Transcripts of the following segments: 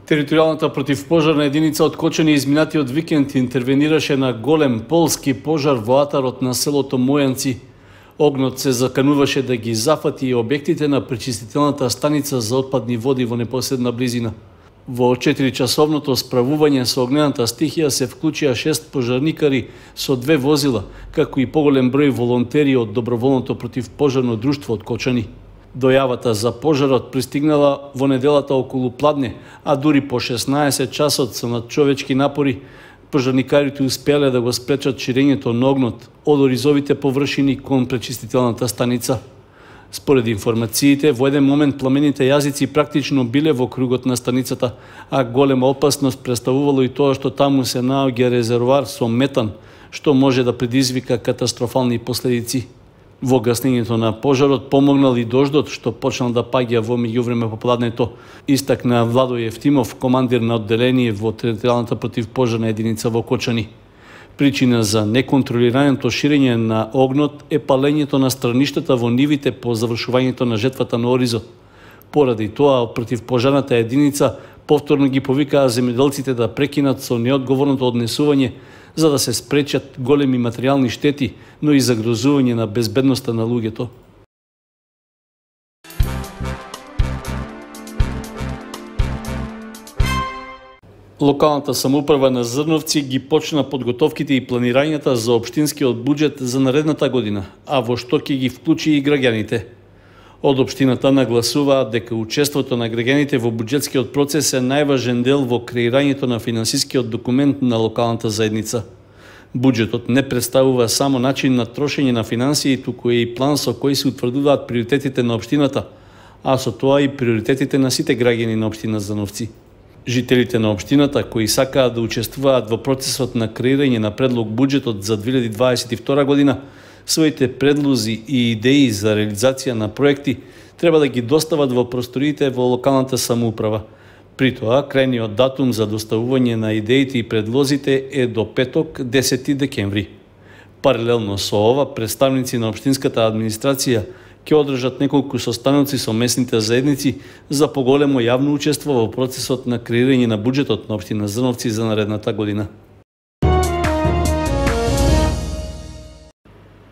Територијалната противпожарна единица од Кочани изминатиот викенд интервенираше на голем полски пожар во атарот на селото Мојанци. Огнот се закануваше да ги зафати и објектите на пречистителната станица за отпадни води во непосредна близина. Во 4-часовното справување со огнената стихија се вклучија 6 пожарникари со 2 возила, како и поголем број волонтери од Доброволното противпожарно друштво од Кочани. Дојавата за пожарот пристигнала во неделата околу пладне, а дури по 16 часот со надчовечки напори, пожарникарите успеале да го спречат ширењето на огнот од оризовите површини кон пречистителната станица. Според информациите, во еден момент пламените јазици практично биле во кругот на станицата, а голема опасност представувало и тоа што таму се наоѓа резервоар со метан, што може да предизвика катастрофални последици. Во гаснењето на пожарот помогнал и дождот што почнал да паѓа во меѓувреме попладнето, истакна Владо Евтимов, командир на одделение во територијалната противпожарна единица во Кочани. Причина за неконтролираното ширење на огнот е палењето на страништата во нивите по завршувањето на жетвата на оризо. Поради тоа, противпожарната единица повторно ги повикаа земјоделците да прекинат со неодговорното однесување, за да се спречат големи материјални штети, но и загрозување на безбедноста на луѓето. Локалната самоуправа на Зрновци ги почна подготовките и планирањата за општинскиот буџет за наредната година, а во што ќе ги вклучи и граѓаните. Од општината нагласуваат дека учеството на граѓаните во буџетскиот процес е најважен дел во креирањето на финансискиот документ на локалната заедница. Буџетот не представува само начин на трошење на финансии, туку е и план со кој се утврдуваат приоритетите на општината, а со тоа и приоритетите на сите граѓани на општина Зрновци. Жителите на општината кои сакаат да учествуваат во процесот на креирање на предлог буџетот за 2022 година, своите предлози и идеи за реализација на проекти треба да ги достават во просториите во локалната самоуправа. При тоа, крајниот датум за доставување на идеите и предлозите е до петок, 10 декември. Паралелно со ова, представници на општинската администрација ќе одржат неколку состаноци со местните заедници за поголемо јавно учество во процесот на креирање на буџетот на општина Зрновци за наредната година.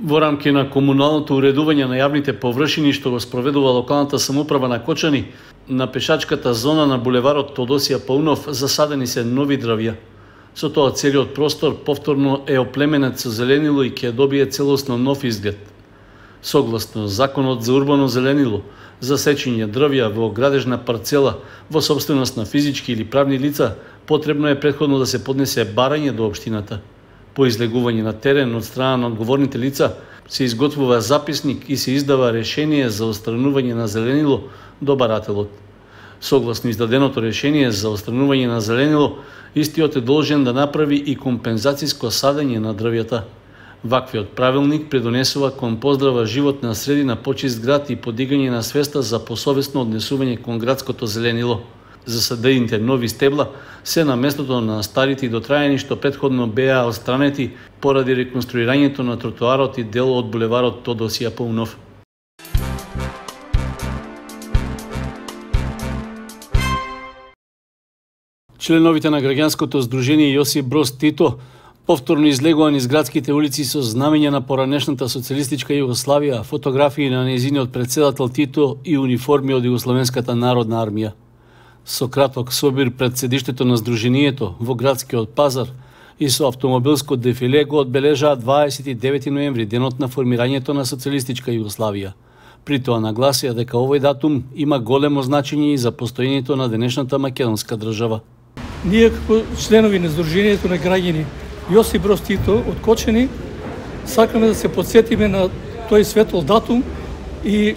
Во рамки на комуналното уредување на јавните површини што го спроведува локалната самоуправа на Кочани, на пешачката зона на булеварот Тодосија Паунов засадени се нови дрвја. Со тоа целиот простор повторно е оплеменет со зеленило и ќе добие целосно нов изглед. Согласно Законот за урбано зеленило, за сечење дрвја во градежна парцела во сопственост на физички или правни лица, потребно е претходно да се поднесе барање до општината. По излегување на терен од страна на одговорните лица се изготвува записник и се издава решение за отстранување на зеленило до барателот. Согласно издаденото решение за отстранување на зеленило, истиот е должен да направи и компензацијско садење на дрвјата. Ваквиот правилник предонесува кон поздрава животна средина, почист град и подигање на свеста за посовесно однесување кон градското зеленило. Засадените нови стебла се на местото на старите и дотраени што претходно беа отстранети поради реконструирањето на тротоарот и дел од булеварот Тодосија Паунов. Членовите на граѓанското здружение Јосип Броз Тито повторно излегува низ градските улици со знамења на поранешната социјалистичка Југославија, фотографии на нејзиниот председател Тито и униформи од Југословенската народна армија. Со краток собир пред седиштето на здруженијето во градскиот пазар и со автомобилско дефиле го одбележаа 29 ноември, денот на формирањето на социјалистичка Југославија. При тоа нагласија дека овој датум има големо значење и за постоењето на денешната македонска држава. Ние како членови на Сдруженијето на граѓани Јосип Броз Тито од Кочани сакаме да се подсетиме на тој светол датум и,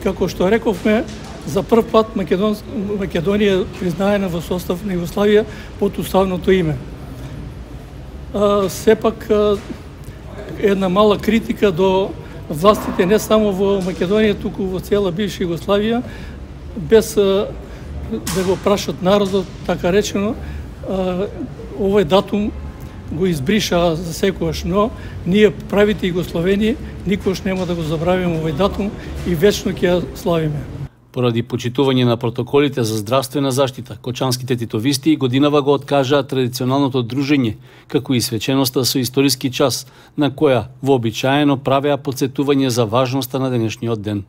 како што рековме, за прв пат Македонија признаена во состав на Југославија под уставното име. Сепак една мала критика до властите не само во Македонија, туку во цела бивша Југославија, без да го прашат народот, така речено, овој датум го избриша за секогаш, но ние правите Југословени никош нема да го забравиме овој датум и вечно ќе ја славиме. Поради почитување на протоколите за здравствена заштита, кочанските титовисти годинава го откажаа традиционалното дружење, како и свеченоста со историски час, на која вообичаено правеа потсетување за важноста на денешниот ден.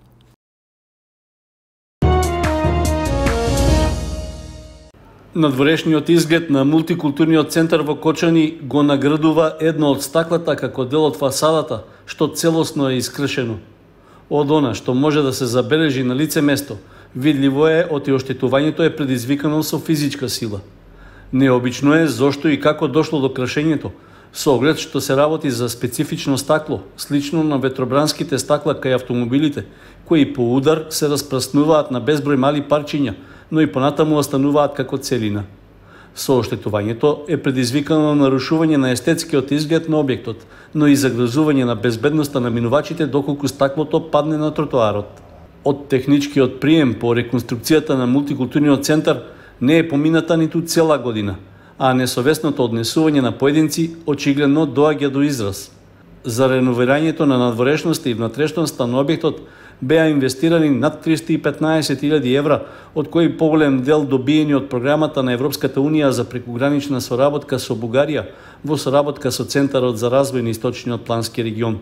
Надворешниот изглед на мултикултурниот центар во Кочани го наградува едно од стаклата како дел од фасадата, што целосно е искршено. Од она што може да се забележи на лице место, видливо е оти оштетувањето е предизвикано со физичка сила. Необично е зошто и како дошло до кршењето, со оглед што се работи за специфично стакло, слично на ветробранските стакла кај автомобилите, кои по удар се распраснуваат на безброј мали парчиња, но и понатаму остануваат како целина. Со оштетувањето е предизвикано нарушување на естетскиот изглед на објектот, но и загрозување на безбедноста на минувачите доколку стаклото падне на тротоарот. Од техничкиот прием по реконструкцијата на мултикултурниот центар не е помината ниту цела година, а несовесното однесување на поединци очигледно доаѓа до израз. За реновирањето на надворешноста и внатрешноста на објектот беа инвестирани над 315.000 евра, од кои поголем дел добиени од програмата на Европската Унија за прекугранична соработка со Бугарија во соработка со Центарот за развој на Источниот плански регион.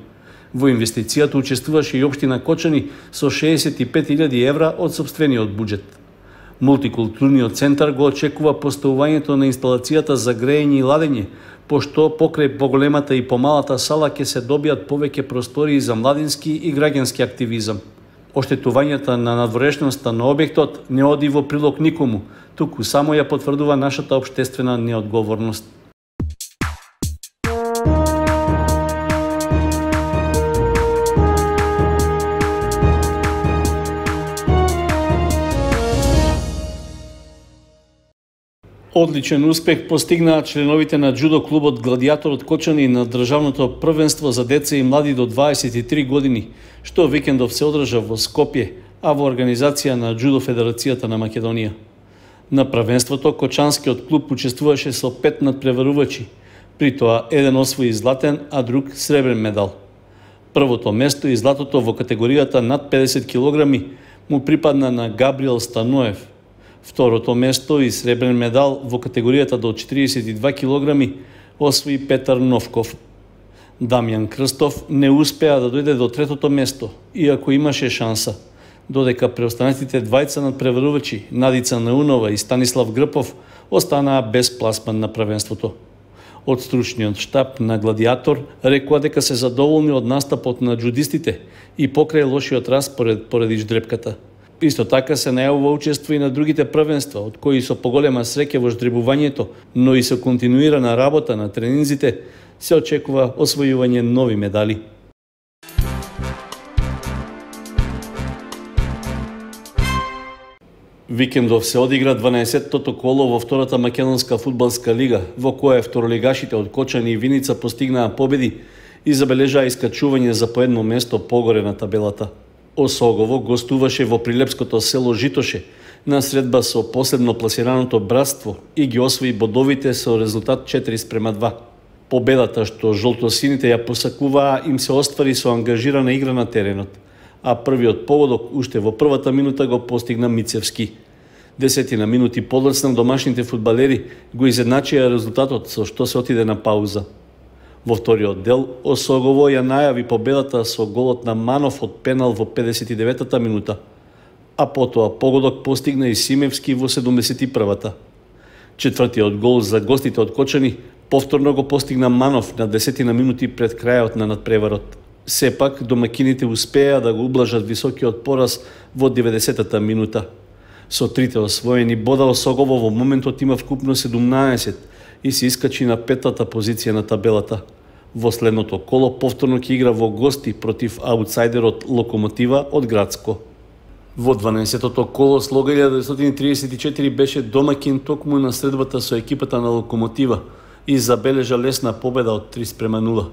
Во инвестицијата учествуваше и општина Кочани со 65.000 евра од сопствениот буџет. Мултикултурниот центар го очекува поставувањето на инсталацијата за грејење и ладење, пошто покрај поголемата и помалата сала ќе се добијат повеќе простории за младински и граѓански активизам. Оштетувањата на надворешноста на објектот не оди во прилог никому, туку само ја потврдува нашата општествена неодговорност. Одличен успех постигнаа членовите на џудо клубот Гладијатор од Кочани на државното првенство за деца и млади до 23 години, што викендов се одржа во Скопје, а во организација на Џудо Федерацијата на Македонија. На првенството кочанскиот клуб учествуваше со 5 надпреварувачи, при тоа еден освои златен, а друг сребрен медал. Првото место и златото во категоријата над 50 килограми му припадна на Габриел Станоев. Второто место и сребрен медал во категоријата до 42 килограми освои Петар Новков. Дамјан Крстов не успеа да дојде до третото место, иако имаше шанса, додека преостанатите двајца надпреварувачи Надица Наунова и Станислав Грпов останаа без пласман на првенството. Од стручниот штаб на Гладијатор рекоа дека се задоволни од настапот на џудистите и покрај лошиот распоред поради ждрепката. Исто така се најавува учество и на другите првенства, од кои со поголема среќа во ждребувањето, но и со континуирана работа на тренинзите, се очекува освојување нови медали. Викендов се одигра 12-тото коло во втората македонска фудбалска лига, во која второлигашите од Кочани и Виница постигнаа победи и забележаа искачување за по едно место погоре на табелата. Осогово гостуваше во прилепското село Житоше на средба со последно пласираното Братство и ги освои бодовите со резултат 4:2. Победата што жолтосините ја посакуваа им се оствари со ангажирана игра на теренот, а првиот погодок уште во првата минута го постигна Мицевски. 10 минути подоцна домашните фудбалери го изедначија резултатот со што се отиде на пауза. Во вториот дел, Осогово ја најави победата со голот на Манов од пенал во 59-та минута, а потоа погодок постигна и Симевски во 71-та. Четвртиот гол за гостите од Кочани повторно го постигна Манов на 10 минути пред крајот на надпреварот. Сепак, домакините успеа да го ублажат високиот пораз во 90-та минута. Со трите освоени бода Осогово во моментот има вкупно 17 и се искачи на 5-та позиција на табелата. Во следното коло повторно ќе игра во гости против аутсайдерот Локомотива од Градско. Во 12-тото коло Слога 1934 беше домакин токму на средбата со екипата на Локомотива и забележа лесна победа од 3:0.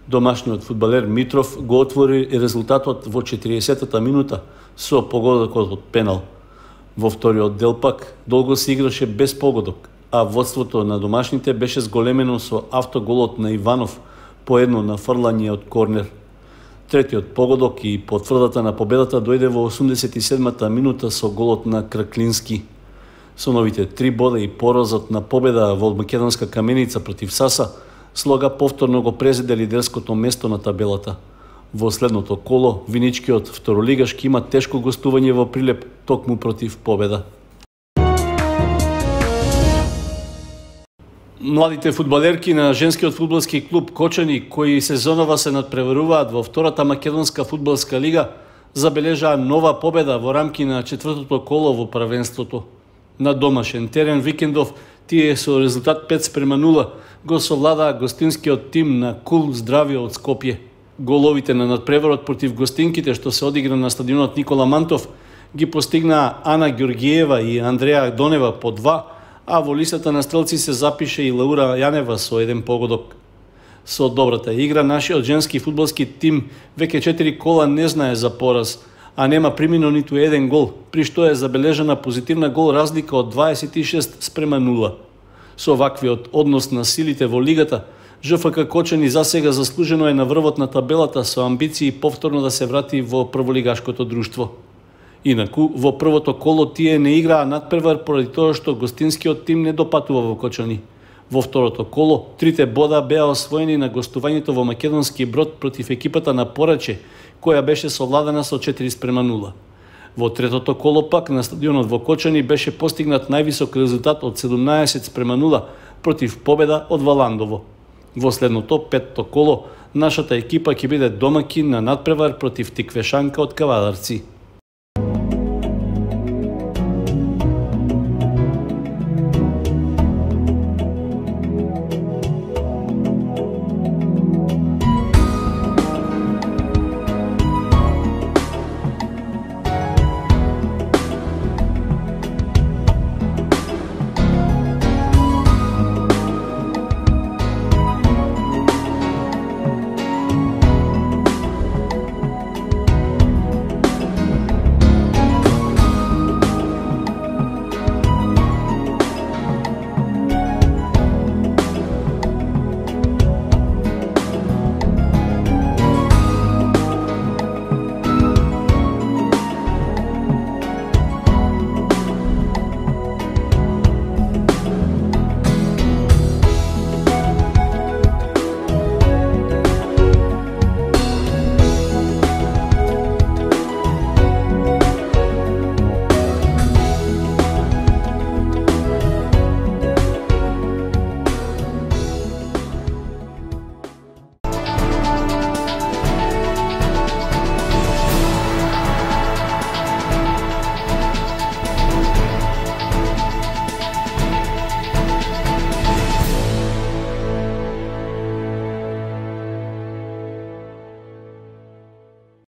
Домашниот фудбалер Митров го отвори резултатот во 40-та минута со погодокот од пенал. Во вториот дел пак долго се играше без погодок, а водството на домашните беше зголемено со автоголот на Иванов по едно нафрлање од корнер. Третиот погодок и потврдата на победата дојде во 87-та минута со голот на Краклински. Со новите 3 бода и поразот на победа во македонска Каменица против Саса, Слога повторно го презеде лидерското место на табелата. Во следното коло, виничкиот второлигашки има тешко гостување во Прилеп, токму против Победа. Младите фудбалерки на женскиот фудбалски клуб Кочани, кои сезонова се надпреваруваат во втората македонска фудбалска лига, забележаа нова победа во рамки на четвртото коло во првенството. На домашен терен викендов, тие со резултат 5:0 го совладаа гостинскиот тим на Кул Здравје од Скопје. Головите на надпреварот против гостинките, што се одигра на стадионот Никола Мантов, ги постигнаа Ана Ѓоргиева и Андреја Донева по 2, а во листата на стрелци се запише и Лаура Јанева со 1 погодок. Со добрата игра, нашиот женски фудбалски тим веќе 4 кола не знае за пораз, а нема примино ниту 1 гол, при што е забележана позитивна гол разлика од 26:0. Со ваквиот однос на силите во лигата, ЖФК Кочани засега заслужено е на врвот на табелата со амбиции повторно да се врати во прволигашкото друштво. Инаку, во првото коло тие не играа надпревар поради тоа што гостинскиот тим не допатува во Кочани. Во второто коло, 3 бода беа освоени на гостувањето во Македонски Брод против екипата на Пораче, која беше совладана со 4:0. Во третото коло пак на стадионот во Кочани беше постигнат највисок резултат од 17:0 против Победа од Валандово. Во следното, петто коло, нашата екипа ќе биде домаќин на надпревар против Тиквешанка од Кавадарци.